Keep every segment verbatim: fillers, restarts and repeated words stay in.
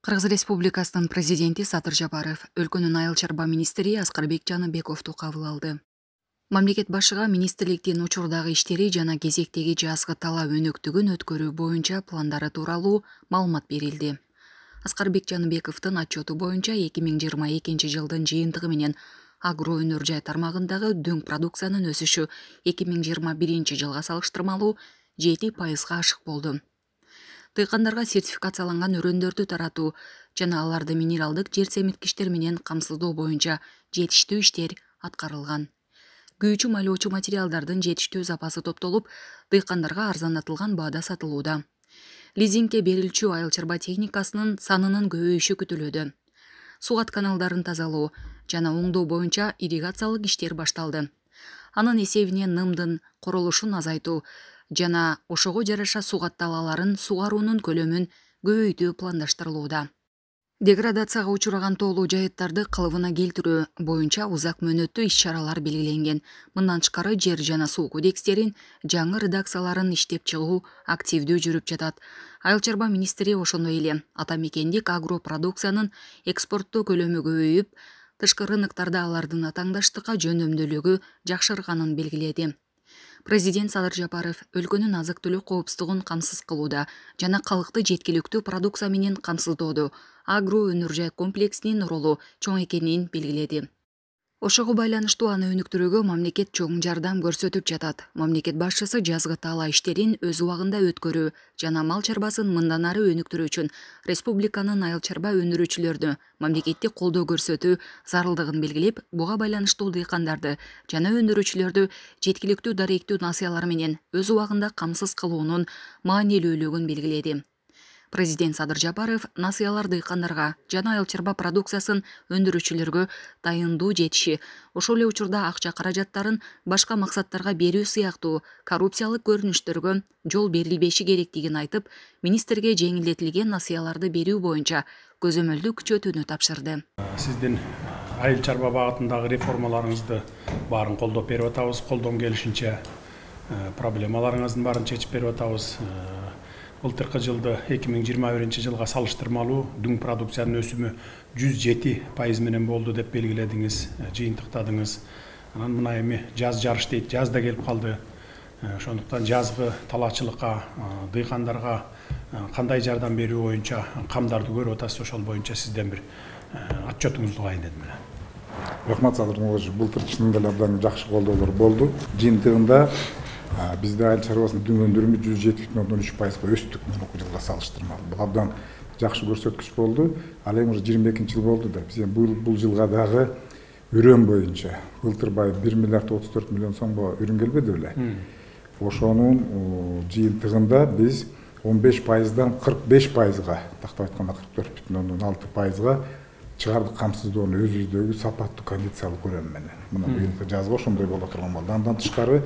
Кыргыз Республикасынын президенти Садыр Жапаров өлкөнүн айыл чарба министри Аскарбек Жаныбековду кабыл алды. Мамлекет башыга министрликтин учурдагы иштери жана кезектеги жазгы талап өнөктүгүн өткөрүү боюнча пландары тууралуу маалымат берилди. Аскарбек Жаныбековдун отчету боюнча эки миң жыйырма экинчи жылдын жыйынтыгы менен агро өнөр жай тармагындагы дөң продукциянын өсүшү эки миң жыйырма биринчи жылга салыштырмалуу жети пайызга ашык болду. Дыйкандарга сертификацияланган өрөөндөрдү таратуу жана аларды минералдык жер семирткичтер менен камсыздоо боюнча жетиштүү иштер аткарылган. Күйүүчү майлоочу материалдардын жетиштүү запасы топтолуп, дыйкандарга арзанатылган баада сатылууда. Лизингке берилчү айыл чарба техникасынын санынын көбөйүшү күтүлүүдө. Сугат каналдарын тазалоо жана оңдоо боюнча ирригациялык иштер башталды. Анын эсебинен нымдын королушун азайтуу жана ошого жараша сугат талааларын сугаруунун көлөмүн көбөйтүү пландаштырылууда. Деградацияга учураган тоолуу жайыттарды калыбына келтирүү боюнча узак мөөнөттүү иш-чаралар белгиленген. Мындан тышкары жер жана суу кодекстерин жаңы редакцияларын иштеп чыгуу активдүү жүрүп жатат. Айыл чарба министри ошондой эле ата мекендик агро продукциянын экспорттоо көлөмү көбөйүп, тышкы рыноктарда алардын атаңдаштыкка жөндөмдүүлүгү жакшырганын белгиледи. Президент Садыр Жапаров өлкөнүн азык-түлүк коопсуздугун камсыз кылууда жана калкты жеткиликтүү продукция менен камсыздоодо агро өнөр жай комплексинин ролу чоң экенин белгиледи. Ошого байланыштуу аны өнүктүрүүгө мамлекет чоң жардам көрсөтүп жатат. Мамлекет башчысы жазгы таала иштерин өз убагында өткөрүү жана мал чарбасын мындан ары өнүктүрүү үчүн республиканын айыл чарба өндүрүүчүлөрүнө мамлекеттик колдоо көрсөтүү зарылдыгын белгилеп, буга байланыштуу дыйкандарды жана өндүрүүчүлөрдү жеткиликтүү даректүү насыялар менен өз убагында камсыз кылуунун маанилүүлүгүн белгиледи. Президент Садыр Жапаров насыялар дыйкандарга жана айыл чарба продукциясын өндүрүүчүлөргө дайындуу жетиши, ошол эле учурда акча каражаттарын башка максаттарга берүү сыяктуу коррупциялык көрүнүштөргө жол берилбеши керектигин айтып, министрге жеңилдетилген насыяларды берүү боюнча көзөмөлдү күчөтүүнү тапшырды. Сиздин айыл чарба багытындагы реформаларыңызды баарын колдоп берип атабыз, колдон келишинче проблемаларыңыздын баарын чечип берип атабыз. Былтыркы жылды эки миң жыйырма биринчи жылга салыштырмалуу дөң продукциянын өсүмү жүз жети пайыз менен болду деп белгиледиңиз, жыйынтыктадыңыз. Анан мына эми жаз жарыш дейт, жаз да келип калды. Ошондуктан жазгы талаачылыкка, дыйкандарга кандай жардам берүү боюнча камдарды көрүп атасыз, ошол боюнча сизден бир отчетуңузду угайын дедим эле. Рахмат Садыр Муллажи, былтыр чынында эле абдан жакшы колдоолор болду. Жыйынтыгында бизде айыл чарбасынын дөң өндүрүмү жүз жети бүтүн ондон үч пайызга өстүк мурунку жылга салыштырмалуу. Бул абдан жакшы көрсөткүч болду. Ал эми уже жыйырма экинчи жыл болду да. Биз бул бул жылга дагы үрөн боюнча былтыр бай бир миллиард отуз төрт миллион сомго үрүн келбеди беле? Ошонун жыйынтыгында биз он беш пайыздан кырк беш пайызга, тактап айтканда кырк төрт бүтүн ондон алты пайызга чыгардык камсыздоону өзүбүздөгү сапаттуу кондициялык үрөн менен. Мына быйылкы жазга ошондой боло турган болду. Андан тышкары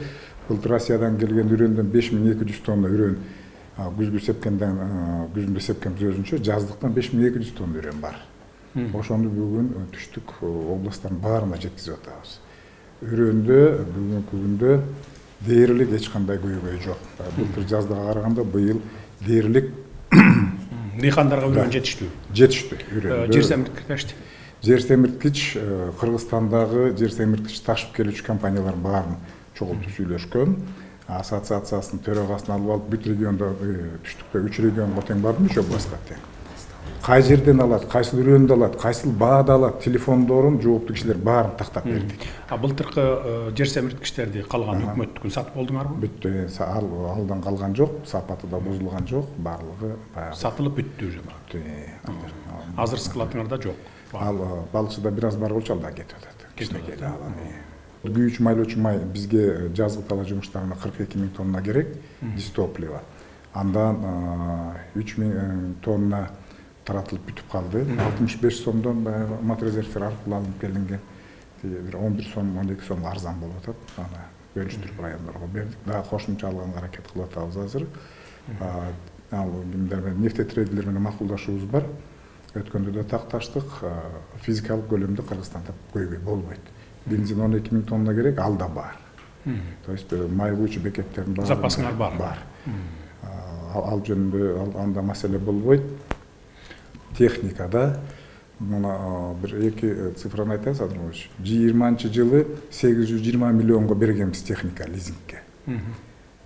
былтыр Россиядан келген үрөндөн беш миң эки жүз тонна үрөн, күзгү сепкенден күзүндө сепкенбиз өзүнчө, жаздыктан беш миң эки жүз тонна үрөн бар. Ошону бүгүн түштүк областтардын баарына жеткизип атабыз. Үрөндө бүгүнкү күндө дээрлик эч кандай көйгөй жок. Былтыр жаздыга караганда быйыл дээрлик дыйкандарга үрөн жетиштүү. Жетиштүү үрөн. Жер семирткичти. Жер семирткич Кыргызстандагы жер семирткич ташып келүүчү компаниялар баарын чогултуп сүйлөшкөн. Ассоциациясынын төрагасын алып алып бүт региондо түштүктө үч регионго тең бардым, үч областка тең. Кай жерден алат, кайсыл үрөндү алат, кайсыл баада алат, телефондорун жооптуу кишилер баарын тактап бердик. А былтыркы жер семирткичтерди калган өкмөттүкүн сатып болдуңарбы? Бүттү, алдан калган жок, сапаты да бузулган жок, баардыгы баягы сатылып бүттү уже бара. Азыр складыңарда жок. Ал балыкчыда бир аз бар болчу, ал да кетип атат. Кичинекей күйүүчү майлоочу май бизге жазгы талаа жумуштарына кырк эки миң тонна керек, дистопливо. Андан үч миң тонна таратылып бүтүп калды. алтымыш беш сомдон баягы матрезервтер аркылуу алынып келинген. Бир он бир сом, он эки сомго арзан болуп атат. Аны бөлүштүрүп райондорго бердик. Дагы кошумча алганга аракет кылып атабыз азыр. Ал кимдер менен нефтетрейдерлер менен макулдашуубуз бар. Өткөндө да такташтык, физикалык көлөмдө Кыргызстанда көйгөй болбойт. Бензин он эки миң тонна керек, ал да бар. То есть май куючу бекеттердин баары запасыңар бар. Бар. ал жөнүндө анда маселе болбойт. Техникада мына бир эки цифраны айтайын Садырбекович. жыйырманчы жылы сегиз жүз жыйырма миллионго бергенбиз техника лизингке.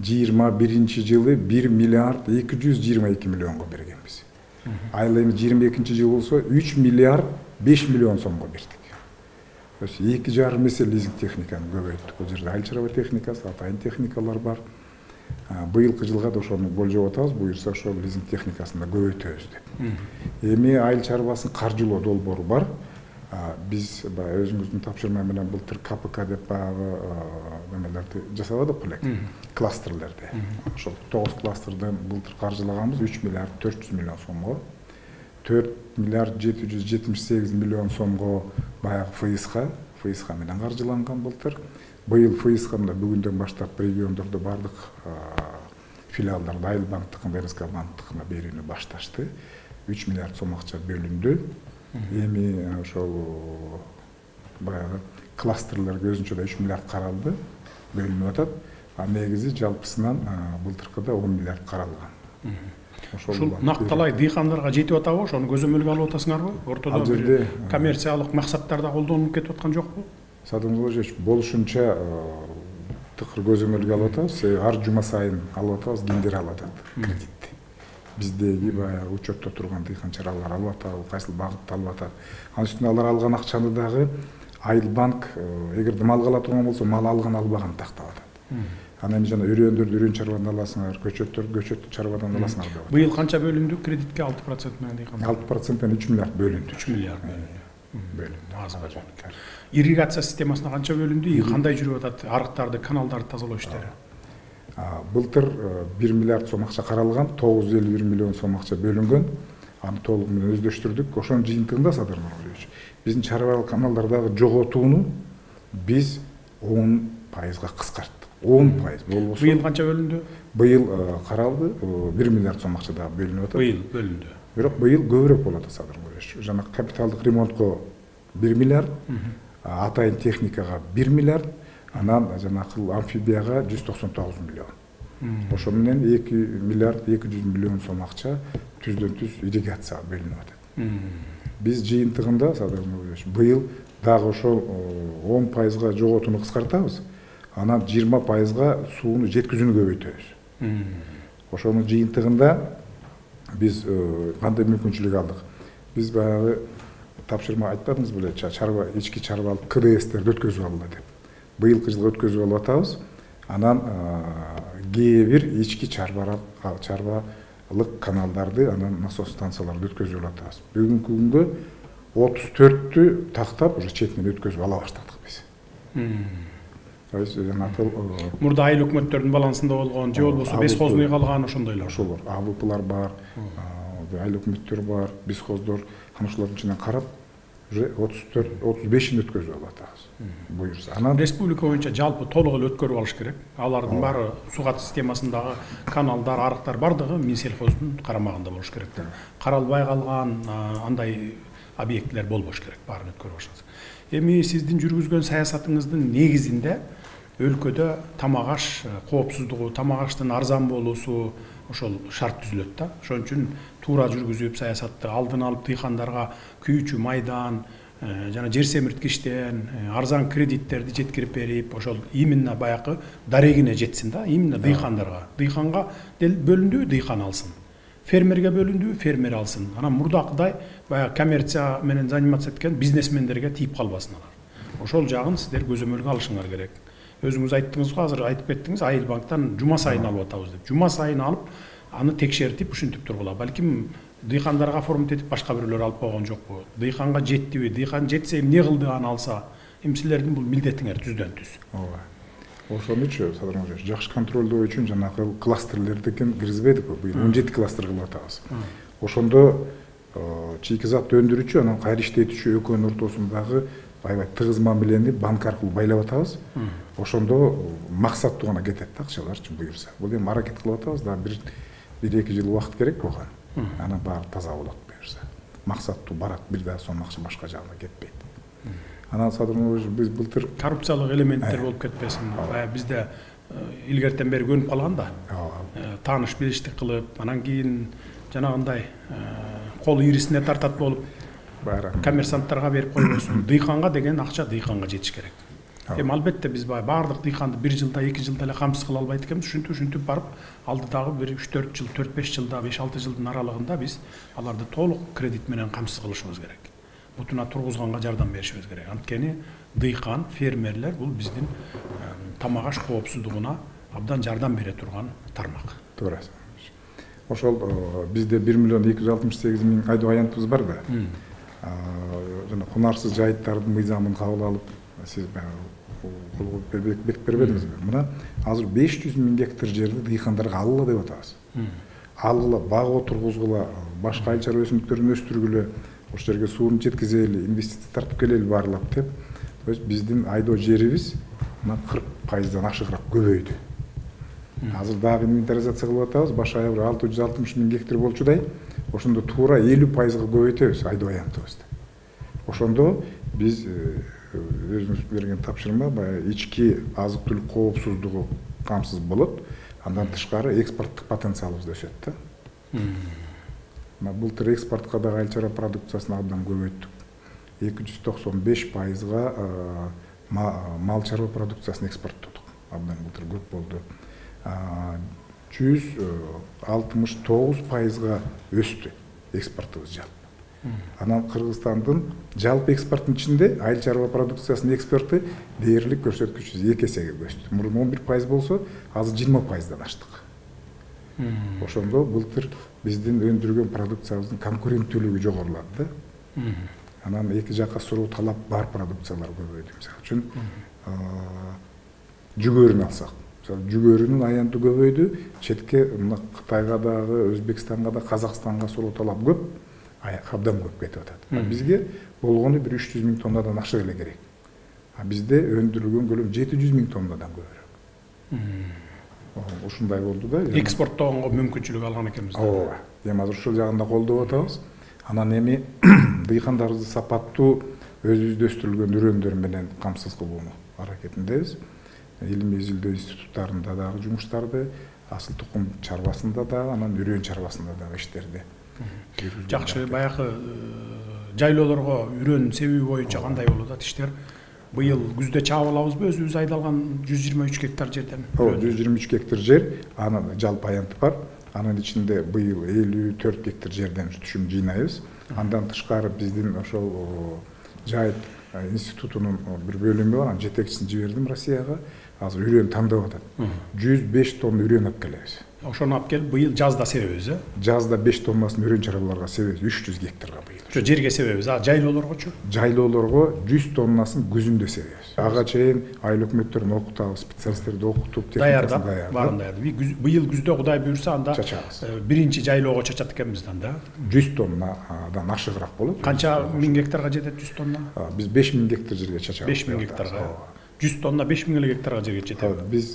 жыйырма биринчи жылы бир миллиард эки жүз жыйырма эки миллионго бергенбиз. Айыл эми жыйырма экинчи жыл болсо үч миллиард беш миллион сомго бердик. То есть эки жарым эсе лизинг техниканы көбөйттүк. Бул жерде айыл чарба техникасы, атайын техникалар бар. Быйылкы жылга да ошону болжоп атабыз, буюрса ошол лизинг техникасын да көбөйтөбүз деп. Эми айыл чарбасын каржылоо долбоору бар. Биз баягы өзүңүздүн тапшырма менен былтыр К П К деп баягы немелерди жасабадык белек, кластерлерди. Ошол тогуз кластерден былтыр каржылаганбыз үч миллиард төрт жүз миллион сомго. төрт миллиард жети жүз жетимиш сегиз миллион сомго баягы Ф И С-ка, Ф И С-ка менен каржыланган былтыр. Быйыл Ф И С-ка бүгүндөн баштап региондордо бардык филиалдарда Айыл банктыкына, Р С К банктыкына берүүнү башташты. үч миллиард сом акча бөлүндү. Эми ошол баягы кластерлерге өзүнчө да үч миллиард каралды, бөлүнүп атат. А негизи жалпысынан былтыркыда он миллиард каралган. Ушул накталай дыйкандарга жетип атабы? Ошону көзөмөлгө алып атасыңарбы? Ортодо бир коммерциялык максаттарда колдонуп кетип аткан жокпу? Садымович, болушунча тыкыр көзөмөлгө алып атабыз. Ар жума сайын алып атабыз, кимдер алып атат кредитти. Биздеги баягы учетто турган дыйканчылар алып атабы, кайсыл багытта алып атат. Анын үстүнө алар алган акчаны дагы Айыл банк эгерде мал ала турган болсо, мал алган албаган тактап атат. Анан эми жана үрөндөрдү үрөн чарбадан аласыңар, көчөттөрдү көчөт чарбадан аласыңар деп. Быйыл канча бөлүндү кредитке? алты процент менен дыйкан. алты процент менен үч миллиард бөлүндү. үч миллиард бөлүндү. Азга жок. Ирригация системасына канча бөлүндү? Кандай жүрүп атат арыктарды, каналдарды тазалоо иштери? Былтыр бир миллиард сом акча каралган, тогуз жүз элүү бир миллион сом акча бөлүнгөн. Аны толук менен өздөштүрдүк. Ошонун жыйынтыгында Садыр Нуралиевич, биздин чарбалык каналдардагы жоготууну биз он пайызга кыскарттык. он пайыз болбосо. Быйыл канча бөлүндү? Быйыл каралды, бир миллиард сом акча дагы бөлүнүп атат. Быйыл бөлүндү. Бирок быйыл көбүрөөк болот Садыр Нуралиевич. Жана капиталдык ремонтко бир миллиард, атайын техникага бир миллиард, анан жанакы амфибияга жүз токсон тогуз миллион. Ошо менен эки миллиард эки жүз миллион сом акча түздөн түз ирригацияга бөлүнүп атат. Биз жыйынтыгында Садыр Нуралиевич быйыл дагы ошол он пайызга жоготууну кыскартабыз. Анан жыйырма пайызга сууну жеткизүүнү көбөйтөбүз. Ошонун жыйынтыгында биз кандай мүмкүнчүлүк алдык? Биз баягы тапшырма айтпадыңыз беле, чарба ички чарбалык К Д С'терди өткөзүп алалы деп. Быйылкы жылга өткөзүп алып атабыз. Анан кээ бир ички чарбалык чарбалык каналдарды, анан насос станцияларды өткөзүп алып атабыз. Бүгүнкү күнгө отуз төрттү тактап уже четинен өткөзүп ала баштадык биз. Мурда айыл өкмөттөрдүн балансында болгон, же болбосо бесхозный калган ошондойлор. Ошолор, А В П'лар бар, айыл өкмөттөр бар, бесхоздор, анан ошолордун ичинен карап, уже отуз төрт отуз бешин өткөзүп алып атабыз. Буюрса. Анан республика боюнча жалпы толук эле өткөрүп алыш керек. Алардын баары сугат системасындагы каналдар, арыктар бардыгы Минсельхоздун карамагында болуш керек да. Каралбай калган андай объектилер болбош керек, баарын өткөрүп алышат. Эми сиздин жүргүзгөн саясатыңыздын негизинде өлкөдө тамак аш коопсуздугу, тамак аштын арзан болуусу ошол шарт түзүлөт да. Ошон үчүн туура жүргүзүп саясатты алдын алып дыйкандарга күйүүчү майдан жана жер семирткичтен арзан кредиттерди жеткирип берип, ошол именно баягы дарегине жетсин да, именно дыйкандарга. Дыйканга бөлүндү, дыйкан алсын. Фермерге бөлүндү, фермер алсын. Анан мурдакыдай баягы коммерция менен заниматься эткен бизнесмендерге тийип калбасын алар. Ошол жагын сиздер көзөмөлгө алышыңар керек. Өзүңүз айттыңыз го, азыр айтып кеттиңиз, Айыл банктан жума сайын алып атабыз деп. Жума сайын алып, аны текшертип, ушинтип тургула. Балким дыйкандарга оформить этип башка бирөөлөр алып койгон жокпу? Дыйканга жеттиби? Дыйкан жетсе эмне кылды аны алса? Эми силердин бул милдетиңер түздөн түз. Ооба. Ошон үчүн Садыр Нуралиевич, жакшы контролдоо үчүн жанагы кластерлерди киргизбедикпи? Быйыл он жети кластер кылып атабыз. Ошондо чийки зат өндүрүүчү, анан кайра иштетүүчү экөөнүн ортосундагы аябай тыгыз мамилени банк аркылуу байлап атабыз. Ошондо максаттуу гана кетет да акчаларчы буюрса. Бул эми аракет кылып атабыз да, бир бир эки жыл убакыт керек болгон. Анан баары таза болот буюрса. Максаттуу барат, бир да сом акча башка жагына кетпейт. Анан Садыр Нуралиевич, биз былтыр коррупциялык элементтер болуп кетпесин. Бая бизде илгертен бери көнүп калган да. Тааныш билиштик кылып, анан кийин жанагындай кол ирисине тартат болуп, коммерсанттарга берип койбосун. Дыйканга деген акча дыйканга жетиш керек. Эми албетте биз баардык дыйканды бир жылда, эки жылда эле камсыз кыла албайт экенбиз. Ушинтип ушинтип барып, алдыдагы бир үч төрт жыл, төрт беш жылда, беш алты жылдын аралыгында биз аларды толук кредит менен камсыз кылышыбыз керек. Бутуна тургузганга жардам беришибиз керек. Анткени дыйкан, фермерлер бул биздин тамак аш коопсуздугуна абдан жардам бере турган тармак. Туура. Ошол бизде бир миллион эки жүз алтымыш сегиз миң айдоо аянтыбыз бар да. Жана кунарсыз жайыттардын мыйзамын кабыл алып, сиз бекип бербедиңизби? Мына азыр беш жүз миң гектар жерди дыйкандарга алгыла деп атабыз. Алгыла, бак отургузгула, башка айыл чарба өсүмдүктөрүн өстүргүлө, ошол жерге сууну жеткизели, инвестиция тартып келели баарлап деп. То есть биздин айдоо жерибиз мына кырк пайыздан ашыгыраак көбөйдү. Азыр дагы инвентаризация кылып атабыз, баш аягы алты жүз алтымыш миң гектар болчудай, ошондо туура элүү пайызга көбөйтөбүз айдоо аянтыбызды. Ошондо биз өзүбүз берген тапшырма баягы ички азык-түлүк коопсуздугу камсыз болот, андан тышкары экспорттук потенциалыбыз өсөт да. Мына былтыр экспортко дагы айыл чарба продукциясын абдан көбөйттүк. эки жүз токсон беш пайызга мал чарба продукциясын экспорттодук. Абдан былтыр көп болду. жүз алтымыш тогуз пайызга өстү экспортубуз жалпы. Анан Кыргызстандын жалпы экспорттун ичинде айыл чарба продукциясынын экспорты дээрлик көрсөткүчү эки эсеге өстү. Мурун он бир пайыз болсо, азыр жыйырма пайыздан аштык. Ошондо былтыр биздин өндүргөн продукциябыздын конкуренттүүлүгү жогорулады да. Анан эки жакка суроо талап бар продукциялар көбөйдү. Мисалы үчүн жүгөрүн алсак, жүгөрүнүн аянты көбөйдү. Четке мына Кытайга дагы, Өзбекстанга да, Казакстанга суроо талап көп, абдан көп кетип атат. Бизге болгону бир үч жүз миң тоннадан ашык эле керек. А бизде өндүрүлгөн көлөм жети жүз миң тоннадан көбүрөөк. Ушундай болду да. Экспорттоого мүмкүнчүлүк алган экенбиз. Ооба. Эми азыр ушул жагында колдоп атабыз. Анан эми дыйкандарыбызды сапаттуу өзүбүздө өстүрүлгөн үрөндөр менен камсыз кылууну аракетиндебиз. Илимий изилдөө институттарында дагы жумуштарды, асыл тукум чарбасында дагы, анан үрөн чарбасында дагы иштерди. Жакшы, баягы жайлоолорго үрөн себеби боюнча кандай болот да иштер? Быйыл күздө чаап алабызбы өзүбүз айдалган жүз жыйырма үч гектар жерден? Ооба, жүз жыйырма үч гектар жер, анын жалпы аянты бар. Анын ичинде быйыл элүү төрт гектар жерден түшүм жыйнайбыз. Андан тышкары биздин ошол жайыт институтунун бир бөлүмү бар, анын жетекчисин жибердим Россияга. Азыр үрөн тандап атат. жүз беш тонна үрөн алып келебиз. Ошону алып келип быйыл жазда себебиз, э? Жазда беш тоннасын үрөн чарбаларга себебиз, үч жүз гектарга быйыл. Ошо жерге себебиз, а жайлоолоргочу? Жайлоолорго жүз тоннасын күзүндө себебиз. Ага чейин айыл өкмөттөрүн окутабыз, специалисттерди окутуп, техникасын даярдап. Баарын даярдап. Быйыл күздө Кудай буйрса анда биринчи жайлоого чачат экенбиз да. жүз тоннадан ашыгыраак болот. Канча миң гектарга жетет жүз тонна? Биз беш миң гектар жерге чачабыз. беш миң гектарга. жүз тонна беш миң эле гектарга жерге жетет. Биз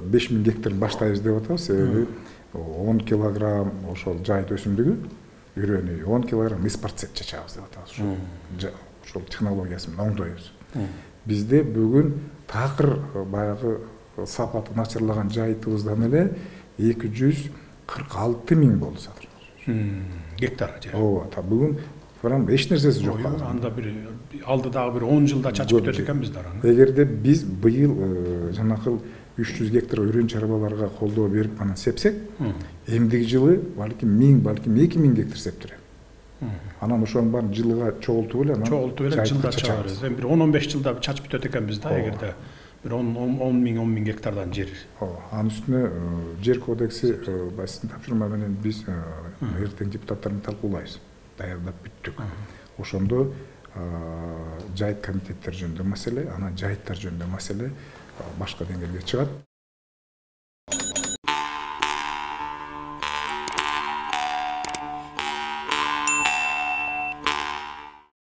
беш миң гектар баштайбыз деп атабыз, себеби он килограмм ошол жайыт өсүмдүгү, үрөнү он килограмм испарцет чачабыз деп атабыз. Ошол технологиясын оңдойбуз. Бизде бүгүн такыр баягы сапаты начарлаган жайытыбыздан эле эки жүз кырк алты миң болду сатыр. Гектар жер. Ооба, та бүгүн прям эч нерсеси жок. Анда бир алдыдагы бир он жылда чачып бүтөт экенбиз да. Эгерде биз быйыл жанакыл үч жүз гектар үрөн чарбаларга колдоо берип анан сепсек, эмдиги жылы балким миң, балким эки миң гектар септирем. Анан ошонун баарын жылга чогултуп эле анан чогултуп эле жылда чачабыз. Эми бир он он беш жылда чачып бүтөт экенбиз да, эгерде бир он миң он миң гектардан жер. Ооба. Анын үстүнө жер кодекси басын тапшырма менен биз эртең депутаттар менен талкуулайбыз. Даярдап бүттүк. Ошондо жайыт комитеттер жөнүндө маселе, анан жайыттар жөнүндө маселе башка деңгээлге чыгат.